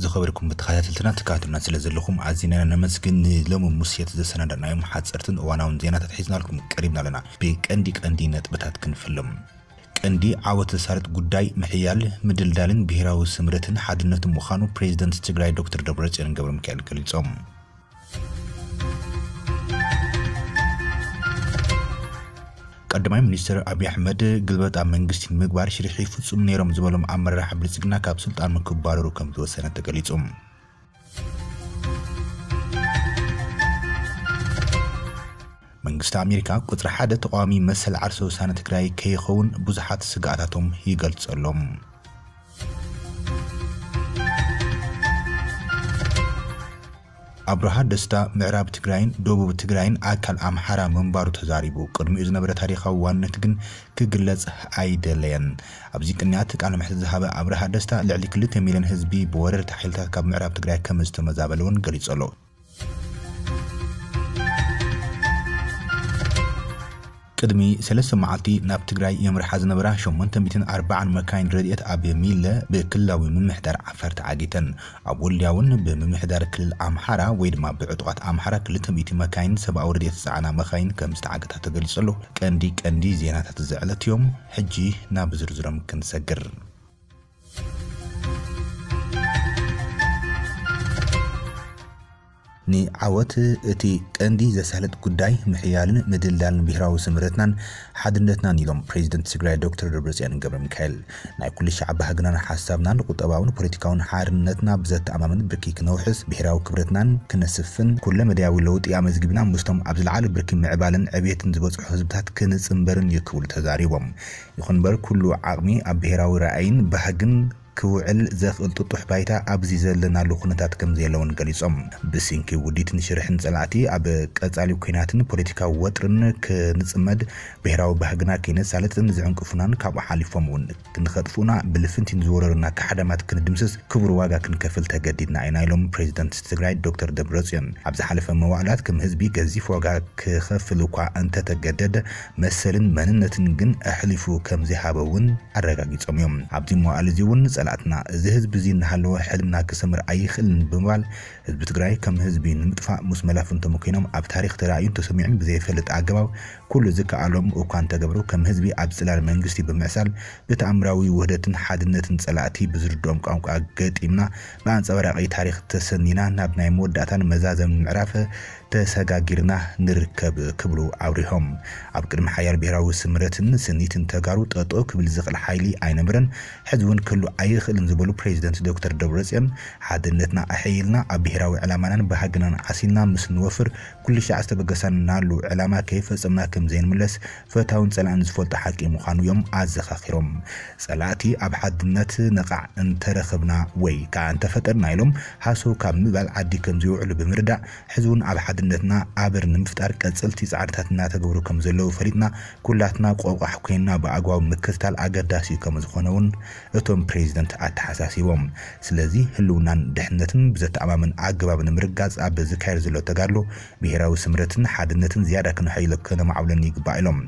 ዝኸበርኩም ተኸታተልትና፣ ትከታተሉና ስለ ዘለኹም ኣዚና ነመስግን። ንሎሚ ምሸት ዘሰናዳእናዮም ሓጸርትን እዋናውን ዜናታት ሒዝናልኩም ቀሪብና ኣለና። ብቀንዲ ቀንዲ ነጥብታት ክንፍሎም። ቀንዲ ዓወት ዘሳልጥ ጉዳይ ምሕያል፣ ምድልዳልን ብሄራዊ ስምረትን ሓድነትን ምዃኑ ፕሬዚደንት ትግራይ ዶክተር ደብረጽዮን ገብረ ሚካኤል ገሊጾም። ቀዳማይ ሚኒስትር ኣብይ ኣሕመድ ግልበጣ መንግስቲ ንምግባር ሽርሒ ይፍጽሙ ነይሮም ዝበሎም ኣመራርሓ ብልጽግና ካብ ስልጣኖም ክባረሩ ከም ዝወሰነ ተገሊጹ። መንግስቲ ኣሜሪካ ቁጽሪ ሓደ ተቃዋሚ መሰል ዓርሰ ውሳነ ትግራይ ከይኸውን ብዙሓት ስግኣታቶም ይገልጸሎም። ኣብርሃ ደስታ ምዕራብ ትግራይን ደቡብ ትግራይን ኣካል ኣምሓራ ምንባሩ ተዛሪቡ። ቅድሚኡ ዝነበረ ታሪኻዊ ዋንነት ግን ክግለጽ ኣይደለየን። ኣብዚ ቅንያት ቃለ መሕትት ዝሃበ ኣብርሃ ደስታ፣ ልዕሊ ክልተ ሚልዮን ህዝቢ ብወረርቲ ሓይልታት ካብ ምዕራብ ትግራይ ከም ዝተመዛበለ እውን ገሊጹ ኣሎ። ቅድሚ ሰለስተ መዓልቲ ናብ ትግራይ የምርሓ ዝነበራ ሸሞንተ ሚእትን ኣርባዓን መካይን ረድኤት ኣብ ሚለ ብክልላዊ ምምሕዳር ዓፋር ተዓጊተን። ኣብ ወልድያ እውን ብምምሕዳር ክልል ኣምሓራ ወይ ድማ ብዕጡቓት ኣምሓራ ክልተ ሚእቲ መካይን ሰብኣዊ ረድኤት ዝጸዓና መካይን ከም ዝተዓገታ ተገሊጹ ኣሎ። ቀንዲ ቀንዲ ዜናታት እዚ ዕለት እዮም። ሕጂ ናብ ዝርዝሮም ክንሰግር። ንዓወት እቲ ቀንዲ ዘሳልጥ ጉዳይ ምሕያልን ምድልዳልን ብሄራዊ ስምረትናን ሓድነትናን ኢሎም ፕሬዚደንት ትግራይ ዶክተር ደብረጽዮን ገብረ ሚካኤል። ናይ ኩሉ ሻዕ ባህግናን ሓሳብናን ቁጠባውን ፖለቲካውን ሓርነትና ብዘተኣማምን ብርኪ ክነውሕስ፣ ብሄራዊ ክብረትናን ክነስፍን፣ ኩለ መዳያዊ ለውጢ ኣመዝጊብና ምስቶም ኣብ ዝለዓለ ብርኪ ምዕባለን ዕቤትን ዝበጽሑ ህዝብታት ክንጽንበርን እዩ ክብሉ ተዛሪቦም። ይኹን እምበር ኩሉ ዓቕሚ ኣብ ብሄራዊ ራእይን ባህግን ክውዕል ዘኽእል ጥጡሕ ባይታ ኣብዚ ዘለናሉ ኩነታት ከም ዘየለውን ገሊጾም። ብስንኪ ውዲትን ሽርሕን ጸላእቲ ኣብ ቀጻሊ ኲናትን ፖለቲካዊ ወጥርን ክንጽመድ፣ ብሄራዊ ባህግና ከይነሳልጥን ዝዕንቅፉናን ካብኡ ሓሊፎም እውን ክንኸጥፉና ብልፍንቲ ንዝወረሩና ካሕዳማት ክንድምስስ ክቡር ዋጋ ክንከፍል ተገዲድና ኢና ኢሎም ፕሬዚደንት ትግራይ ዶክተር ደብረጽዮን። ኣብ ዝሓለፈ መዋዕላት ከም ህዝቢ ገዚፍ ዋጋ ክኸፍል እኳ እንተተገደደ መሰልን መንነትን ግን ኣሕሊፉ ከም ዘይሃበ እውን ኣረጋጊጾም እዮም። ኣብዚ መዋዕል እዚ እውን ጸላእትና እዚ ህዝቢ እዚ እናሃለወ ሕልምና ክሰምር ኣይኽእልን ብምባል ህዝቢ ትግራይ ከም ህዝቢ ንምጥፋእ ምስ መላፍንቶም ኮይኖም ኣብ ታሪኽ ተራእዩን ተሰሚዑን ብዘይፈልጥ ኣገባብ ኩሉ ዝከኣሎም እኳ እንተገብሩ ከም ህዝቢ ኣብ ጽላል መንግስቲ ብምዕሳል ብተኣምራዊ ውህደትን ሓድነትን ጸላእቲ ብዝርድኦም ቋንቋ ገጢምና ብኣንጸባራቒ ታሪኽ ተሰኒና ናብ ናይ መወዳእታን መዛዘምን ምዕራፍ ተሰጋጊርና ንርከብ ክብሉ ኣብሪሆም። ኣብ ቅድሚ ሓያል ብሄራዊ ስምረትን ስኒትን ተጋሩ ጠጠው ክብል ዝኽእል ሓይሊ ኣይነበረን፣ ሕዚ እውን ክህሉ ኣይኽእልን ዝበሉ ፕሬዚደንት ዶክተር ደብረጽዮን ሓድነትና ኣሐይልና ኣብ ብሄራዊ ዕላማናን ባህግናን ዓሲልና ምስ ንወፍር ኩሉ ሻዕ ዝተበገሰናሉ ዕላማ ከይፈጸምና ከም ዘይንምለስ ፈታውን ጸላእን ዝፈልጦ ሓቂ ምዃኑ እዮም ኣዘኻኺሮም። ጸላእቲ ኣብ ሓድነት ነቓዕ እንተረኸብና ወይ ከኣ እንተፈጠርና ኢሎም ሃሰው ካብ ምባል ዓዲ ከም ዘይውዕሉ ብምርዳእ ሕዚ እውን ኣብ ሓድነትና ኣበር ንምፍጣር ቀጸልቲ ጻዕርታት እናተገብሩ ከም ዘለዉ ፈሊጥና ኩላትና ቆቋሕ ኮይንና ብኣግባቡ ምክትታል ኣገዳሲ እዩ ከም ዝኾነ እውን እቶም ፕሬዚደንት ኣተሓሳሲቦም። ስለዚ ህልውናን ድሕነትን ብዘተኣማምን ኣገባብ ንምርጋጽ ኣብ ዝካየድ ዘሎ ተጋድሎ ብሄራዊ ስምረትን ሓድነትን ዝያዳ ክነሐይሎ ከነማዕብሎን ይግባእ ኢሎም።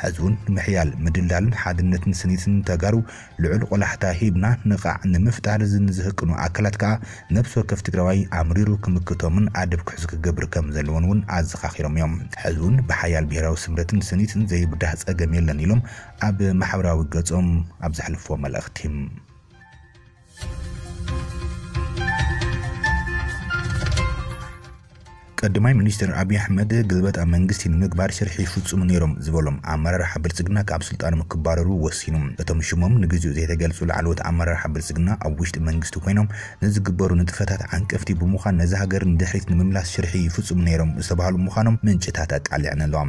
ሕዚ እውን ንምሕያል ምድልዳልን ሓድነትን ስኒትን ተጋሩ ልዑል ቆላሕታ ሂብና ንቓዕ ንምፍጣር ዝን ዝህቅኑ ኣካላት ከኣ ነብሲ ወከፍ ትግራዋይ ኣምሪሩ ክምክቶምን ኣደብ ክሕዙ ክገብር ከም ዘለዎን እውን ኣዘኻኺሮም እዮም። ሕዚ እውን ብሓያል ብሄራዊ ስምረትን ስኒትን ዘይብዳህ ጸገም የለን ኢሎም ኣብ ማሕበራዊ ገጾም ኣብ ዘሕልፍዎ መልእኽቲ። ቀዳማይ ሚኒስትር ኣብይ ኣሕመድ ግልበጣ መንግስቲ ንምግባር ሽርሒ ይፍጽሙ ነይሮም ዝበሎም ኣመራርሓ ብልጽግና ካብ ስልጣኖም ክባረሩ ወሲኑ። እቶም ሽሞም ንግዜኡ ዘይተገልጹ ላዕለዎት ኣመራርሓ ብልጽግና ኣብ ውሽጢ መንግስቲ ኮይኖም ንዝግበሩ ንጥፈታት ዓንቀፍቲ ብምዃን ነዚ ሃገር ንድሕሪት ንምምላስ ሽርሒ ይፍጽሙ ነይሮም ዝተባህሉ ምዃኖም ምንጭታት ኣቃሊዐን ኣለዋ።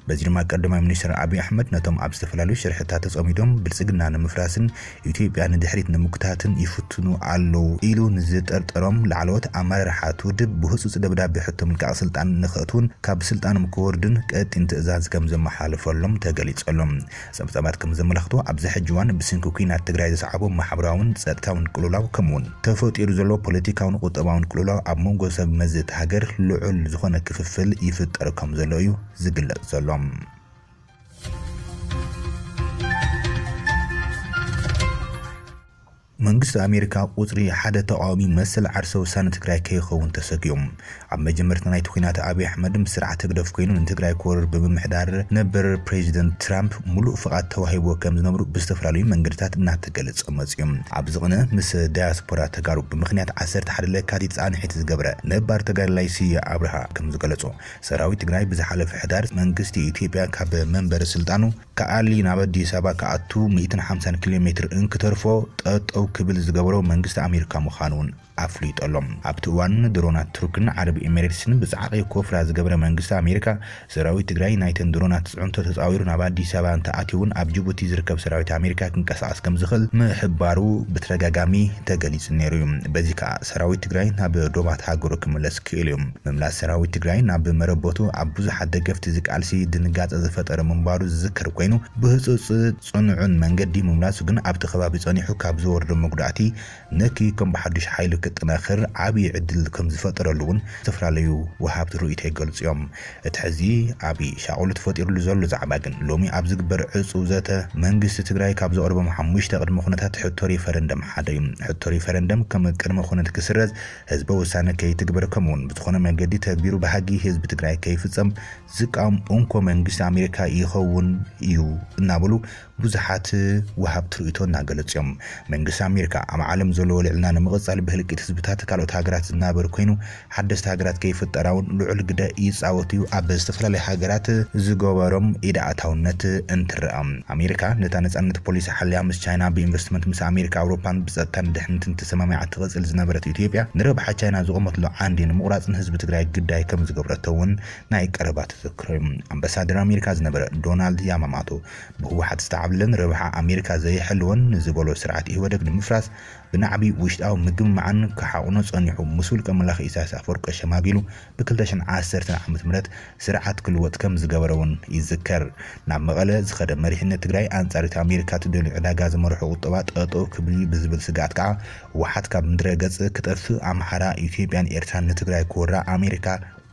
በዚ ድማ ቀዳማይ ሚኒስትር ኣብይ ኣሕመድ ነቶም ኣብ ዝተፈላለዩ ሽርሕታት ተጸሚዶም ብልጽግና ንምፍራስን ኢትዮጵያ ንድሕሪት ንምጉታትን ይፍትኑ ኣለዉ ኢሉ ንዝጠርጠሮም ላዕለዎት ኣመራርሓት ውድብ ብህጹጽ ደብዳቤ ሕቶ ምልቃቕ ስልጣን ንኸእትዉን ካብ ስልጣኖም ክወርዱን ቀጢን ትእዛዝ ከም ዘመሓላለፈሎም ተገሊጹ ኣሎ። ጸብጻባት ከም ዘመላኽቶ ኣብዚ ሕጂ እዋን ብሰንኪ ኲናት ትግራይ ዘስዓቦ ማሕበራውን ጸጥታውን ቅልውላው ከምኡውን ተፈጢሩ ዘሎ ፖለቲካውን ቁጠባውን ቅልውላው ኣብ መንጎ ሰብ መዚ እታ ሃገር ልዑል ዝኾነ ክፍፍል ይፍጠር ከም ዘሎ እዩ ዝግለጽ ዘሎ። መንግስቲ ኣሜሪካ ቁፅሪ ሓደ ተቃዋሚ መሰል ዓርሰ ውሳነ ትግራይ ከይኸውን ተሰጊኦም። ኣብ መጀመርታ ናይቲ ኩናት ኣብይ ኣሕመድ ምስ ስርዓት ህግደፍ ኮይኑ ንትግራይ ክወርር ብምምሕዳር ነበር ፕሬዚደንት ትራምፕ ሙሉእ ፍቓድ ተዋሂቦ ከም ዝነብሩ ብዝተፈላለዩ መንገድታት እናተገለጸ መጽዩ። ኣብዚ ቅነ ምስ ዳያስፖራ ተጋሩ ብምኽንያት ዓሰርተ ሓደ ለካቲት ጻንሒት ዝገብረ ነባር ተጋዳላይ ስየ ኣብርሃ ከም ዝገለጾ፣ ሰራዊት ትግራይ ብዝሓለፈ ሕዳር መንግስቲ ኢትዮጵያ ካብ መንበሪ ስልጣኑ ከኣሊ ናብ ኣዲስ ኣበባ ክኣቱ ሚእትን ሓምሳን ኪሎ ሜትር እንክተርፎ ጠጠው ክብል ዝገበሮ መንግስቲ ኣሜሪካ ምዃኑ እውን ኣፍሊጦሎም። ኣብቲ እዋን ድሮናት ቱርክን ዓረብ ኤሚሬትስን ብጻዕቂ ኮፍራ ዝገብረ መንግስቲ ኣሜሪካ፣ ሰራዊት ትግራይ ናይተን ድሮናት ጽዕንቶ ተጻዊሩ ናብ ኣዲስ ኣበባ እንተኣትዩ እውን ኣብ ጅቡቲ ዝርከብ ሰራዊት ኣሜሪካ ክንቀሳቐስ ከም ዝኽእል ምሕባሩ ብተደጋጋሚ ተገሊጹ ነይሩ እዩ። በዚ ከኣ ሰራዊት ትግራይ ናብ ዶባት ሃገሩ ክምለስ ክኢሉ እዩ። ምምላስ ሰራዊት ትግራይ ናብ መረበቱ ኣብ ብዙሓት ደገፍቲ እዚ ቃልሲ ድንጋጸ ዝፈጠረ ምንባሩ ዝዝከር ኮይኑ፣ ብህጹጽ ጽኑዕን መንገዲ ምምላሱ ግን ኣብቲ ከባቢ ጸኒሑ ካብ ዝወርዶ መጉዳእቲ ነኪ ከም ብሓዱሽ ሓይሉ ክጥነኽር ዓብዪ ዕድል ከም ዝፈጠረሉ እውን ዝተፈላለዩ ወሃብቲ ርእይቶ ይገልጹ እዮም። እቲ ሕዚ ዓብዪ ሻቕሎት ፈጢሩሉ ዘሎ ዛዕባ ግን ሎሚ ኣብ ዝግበር ዕጹው ዘተ መንግስቲ ትግራይ ካብ ዘቕርቦም ሓሙሽተ ቅድመ ኩነታት ሕቶ ሪፈረንደም ሓደ እዩ። ሕቶ ሪፈረንደም ከም ቅድመ ኩነት ክስረዝ፣ ህዝበ ውሳነ ከይትግበር ከምኡውን ብዝኾነ መንገዲ ተግቢሩ ባህጊ ህዝቢ ትግራይ ከይፍጸም ዝቃወም እንኮ መንግስቲ ኣሜሪካ ይኸውን እዩ እናበሉ ብዙሓት ወሃብቲ ርእይቶ እናገለጹ እዮም። መንግስቲ ኣሜሪካ ኣብ ዓለም ዘለዎ ልዕልና ንምቕጻል ብህልቂት ህዝብታት ካልኦት ሃገራት ዝናበር ኮይኑ ሓደስቲ ሃገራት ከይፍጠራ እውን ልዑል ግደ ይጻወት እዩ። ኣብ ዝተፈላለዩ ሃገራት ዝገበሮም ኢድ ኣእታውነት እንትረኣ፣ ኣሜሪካ ነታ ነጻነት ፖሊሲ ሓልያ ምስ ቻይና ብኢንቨስትመንት ምስ ኣሜሪካ ኣውሮፓን ብጸጥታን ድሕነትን ተሰማሚዓ ትቕጽል ዝነበረት ኢትዮጵያ ንረብሓ ቻይና ዝቖመትሉ ዓንዲ ንምቑራጽ ንህዝቢ ትግራይ ግዳይ ከም ዝገብረቶ እውን ናይ ቀረባ ተዘክሮ እዩ። ኣምባሳደር ኣሜሪካ ዝነበረ ዶናልድ ያማማቶ ብህወሓት ዝተዓብለለን ረብሓ ኣሜሪካ ዘይሕልወን ንዝበሎ ስርዓት ኢህወደግ ንምፍራስ ብናዕቢ ውሽጣዊ ምግምማዕን ክሓቑኖ ጸኒሑ ምስ ውልቀ መላኺ ኢሳያስ ኣፈወርቂ ሸማጊሉ ብ ክልተ ሽሕን ዓሰርተን ዓመተ ምህረት ስርዓት ክልወጥ ከም ዝገበረ እውን ይዝከር። ናብ መቐለ ዝኸደ መሪሕነት ትግራይ ኣንጻር እቲ ኣሜሪካ ትደልዮ ዕዳጋ ዝመርሖ ቁጠባ ጠጠው ክብል እዩ ብዝብል ስግኣት ከዓ ህወሓት ካብ ምድረ ገጽ ክጠፍእ ኣምሓራ፣ ኢትዮጵያን ኤርትራን ንትግራይ ክወራ ኣሜሪካ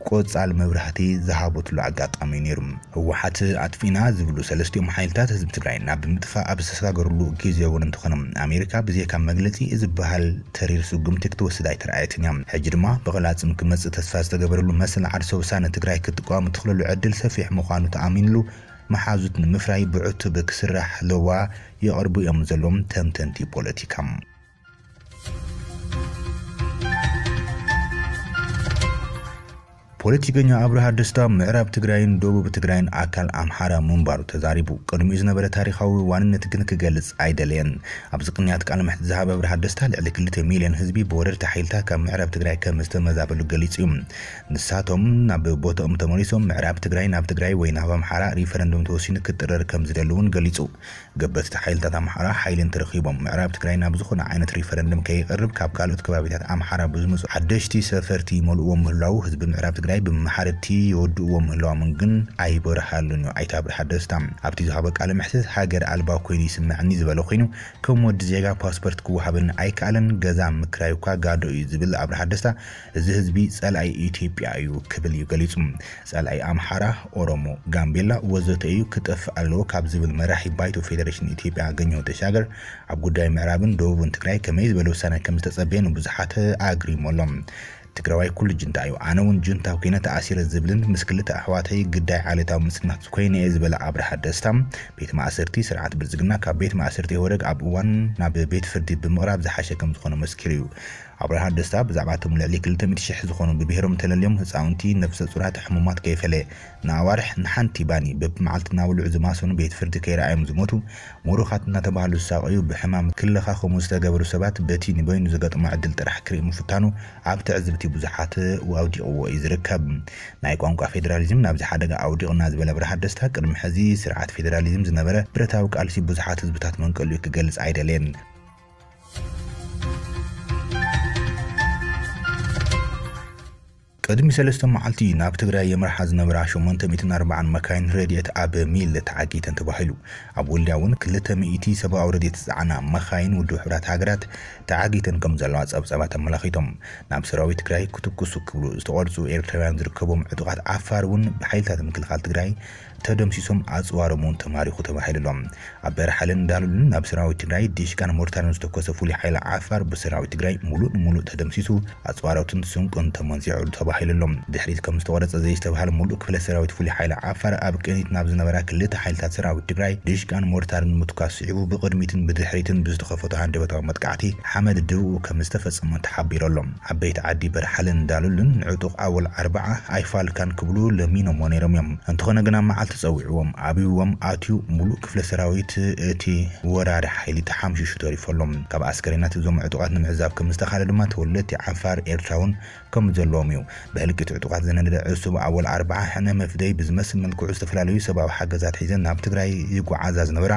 ቆጻል መብራህቲ ዝሃበትሉ ኣጋጣሚ እዩ ነይሩ። ህወሓት ኣጥፊእና ዝብሉ ሰለስቲኦም ሓይልታት ህዝቢ ትግራይ ናብ ምጥፋእ ኣብ ዝተሰጋገሩሉ ግዜ እውን እንተኾነ ኣሜሪካ ብዘይካ መግለጺ ዝበሃል ተሪር ስጉምቲ ክትወስድ ኣይተረኣየትን እያ። ሕጂ ድማ ብቕላጽም ክመጽእ ተስፋ ዝተገበረሉ መሰል ዓርሰ ውሳነ ትግራይ ክትቃወም እትኽእለሉ ዕድል ሰፊሕ ምዃኑ ተኣሚንሉ መሓዙት ንምፍራይ ብዕቱብ ክስራሕ ለዋ የቕርቡ እዮም ዘለዎም ተንተንቲ ፖለቲካ። ፖለቲከኛ ኣብርሃ ደስታ ምዕራብ ትግራይን ደቡብ ትግራይን ኣካል ኣምሓራ ምንባሩ ተዛሪቡ። ቅድሚኡ ዝነበረ ታሪኻዊ ዋንነት ግን ክገልጽ ኣይደለየን። ኣብዚ ቅንያት ቃለ መሕትት ዝሃበ ኣብርሃ ደስታ ልዕሊ ክልተ ሚልዮን ህዝቢ ብወረርቲ ሓይልታት ካብ ምዕራብ ትግራይ ከም ዝተመዛበሉ ገሊጹ እዩ። ንሳቶም ናብ ቦታኦም ተመሊሶም ምዕራብ ትግራይ ናብ ትግራይ ወይ ናብ ኣምሓራ ሪፈረንዱም ተወሲኑ ክጥረር ከም ዝደሊ እውን ገሊጹ። ገበትቲ ሓይልታት ኣምሓራ ሓይሊ እንተረኺቦም ምዕራብ ትግራይ ናብ ዝኾነ ዓይነት ሪፈረንደም ከይቐርብ ካብ ካልኦት ከባቢታት ኣምሓራ ብዝመፁ ሓደሽቲ ሰፈርቲ ይመልእዎ ምህላው ህዝቢ ምዕራብ ትግራይ ብመሓረድቲ ይወድእዎ ምህላዎም ግን ኣይበርሃሉን እዩ ኣይተ ኣብርሃ ደስታ። ኣብቲ ዝሃቦ ቃለ መሕትት ሃገር ኣልባ ኮይኑ ይስምዐኒ ዝበለ ኮይኑ ከም ወዲ ዜጋ ፓስፖርት ክወሃበኒ ኣይከኣለን፣ ገዛ ምክራይ እኳ ጋዶ እዩ ዝብል ኣብርሃ ደስታ እዚ ህዝቢ ፀላኢ ኢትዮጵያ እዩ ክብል እዩ ገሊፁ። ጸላኢ ኣምሓራ፣ ኦሮሞ፣ ጋምቤላ ወዘተ እዩ ክጠፍእ ኣለዎ ካብ ዝብል መራሒ ባይቶ ፌደሬሽን ኢትዮጵያ ኣገኘሁ ተሻገር ኣብ ጉዳይ ምዕራብን ደቡብን ትግራይ ከመይ ዝበለ ውሳነ ከም ዝተጸበየ ንብዙሓት ኣግሪሙ ኣሎ። ትግራዋይ ኩሉ ጅንታ እዩ፣ ኣነ እውን ጅንታ ኮይነ ተኣሲረ ዝብልን ምስ ክልተ ኣሕዋተይ ግዳይ ዓሌታዊ ምጽናት ኮይነ እየ ዝበለ ኣብርሃ ደስታ፣ ቤት ማእሰርቲ ስርዓት ብልጽግና ካብ ቤት ማእሰርቲ ኢህወደግ ኣብ እዋን ናብ ቤት ፍርዲ ብምቕራብ ዝሓሸ ከም ዝኾነ መስኪሩ እዩ። ኣብርሃ ደስታ ብዛዕባ እቶም ልዕሊ ክልተ ሚእቲ ሽሕ ዝኾኑ ብብሄሮም ተለልዮም ህፃውንቲ፣ ነፍሰ ፁራት፣ ሕሙማት ከይፈለየ ንኣዋርሕ ንሓንቲ ባኒ በብመዓልቲ እናበልዑ ዝማሰኑ ቤት ፍርዲ ከይረኣዮም ዝሞቱ፣ ምሩኻት እናተባህሉ ዝሳቐዩ፣ ብሕማም ክለኻኸሙ ዝተገበሩ ሰባት በቲ ንበይኑ ዝገጥሞ ዕድል ጥራሕ ክርኢ ምፍታኑ ኣብ ትዕዝብቲ ብዙሓት ኣውዲቕዎ እዩ ዝርከብ። ናይ ቋንቋ ፌዴራሊዝም ናብዚ ሓደጋ ኣውዲቑና ዝበለ ኣብርሃ ደስታ ቅድሚ ሕዚ ስርዓት ፌዴራሊዝም ዝነበረ ብረታዊ ቃልሲ ብዙሓት ህዝብታት መንቀሊኡ ክገልፅ ኣይደለየን። ቅድሚ ሰለስተ መዓልቲ ናብ ትግራይ የምርሓ ዝነበራ ሸሞንተ ሚእትን ኣርባዓን መካይን ረድኤት ኣብ ሚል ተዓጊተን ተባሂሉ። ኣብ ወልድያ እውን ክልተ ሚእቲ ሰብኣዊ ረድኤት ዝፀዓና መኻይን ውድብ ሕቡራት ሃገራት ተዓጊተን ከም ዘለዋ ፀብፀባት ኣመላኺቶም። ናብ ሰራዊት ትግራይ ክትኩሱ ክብሉ ዝተቐርፁ ኤርትራውያን ዝርከቦም ዕጡቓት ዓፋር እውን ብሓይልታት ምክልኻል ትግራይ ተደምሲሶም፣ ኣፅዋሮም እውን ተማሪኹ ተባሂሉሎም። ኣብ በረሓለን ዳሉልን ናብ ሰራዊት ትግራይ ዲሽቃን ሞርታርን ዝተኮሰ ፍሉይ ሓይሊ ዓፋር ብሰራዊት ትግራይ ሙሉእ ንሙሉእ ተደምሲሱ፣ ኣፅዋሮትን ስንቁን ተመንዚዑ ተባሂሉሎም። ድሕሪት ከም ዝተቆረፀ ዘይስተብሃለ ሙሉእ ክፍለ ሰራዊት ፍሉይ ሓይሊ ዓፋር ኣብ ቅኒት ናብ ዝነበራ ክልተ ሓይልታት ሰራዊት ትግራይ ዲሽቃን ሞርታርን ምትኳስ ስዒቡ፣ ብቅድሚትን ብድሕሪትን ብዝተኸፈቱ ሃንደበታዊ መጥቃዕቲ ሓመድ ድብኡ ከም ዝተፈፀመ ተሓቢሩ ኣሎ። ዓበይቲ ዓዲ በርሓለን ዳሉልን ንዕጡቕ ኣወል ኣርባዓ ኣይፋልካን ክብሉ ለሚኖሞ ነይሮም እዮም። እንተኾነ ግና መዓልቲ ፀዊዕዎም ኣብይዎም ኣትዩ፣ ሙሉእ ክፍለ ሰራዊት እቲ ወራሪ ሓይሊ ተሓምሽሹ ተሪፉ ኣሎ። ካብ ኣስከሬናት እዞም ዕጡቓት ንምዕዛብ ከም ዝተኻለ ድማ ተወለድቲ ዓፋር ኤርትራውን ከም ዘለዎም እዩ። ብህልቂት ዕጡቓት ዝነደደ ዕሱብ ኣወል ኣርባዓ ሕነ መፍደይ ብዝመስል መልክዑ ዝተፈላለዩ ሰብኣዊ ሓገዛት ሒዘን ናብ ትግራይ ይጓዓዛ ዝነበራ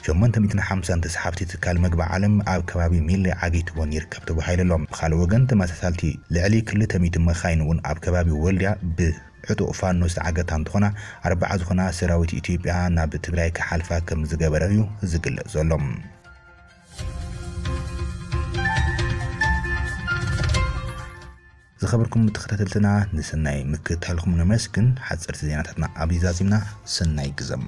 ሸሞንተ ሚእትን ሓምሳን ተስሓብቲ ትካል መግቢ ዓለም ኣብ ከባቢ ሚሌ ዓጊትወን ይርከብ ተባሂሉ ኣሎ። ብኻልእ ወገን ተመሳሳልቲ ልዕሊ ክልተ ሚእቲ መኻይን እውን ኣብ ከባቢ ወልድያ ብዕጡቕ ፋኖ ዝተዓገታ እንትኾና፣ ኣርባዓ ዝኾና ሰራዊት ኢትዮጵያ ናብ ትግራይ ክሓልፋ ከም ዝገበረ እዩ ዝግለጽ ዘሎ። ዝኸበርኩም ተኸታተልትና፣ ንሰናይ ምክትታልኩም ነመስግን። ሓፀርቲ ዜናታትና ኣብዚ ዛዚምና። ሰናይ ግዘም።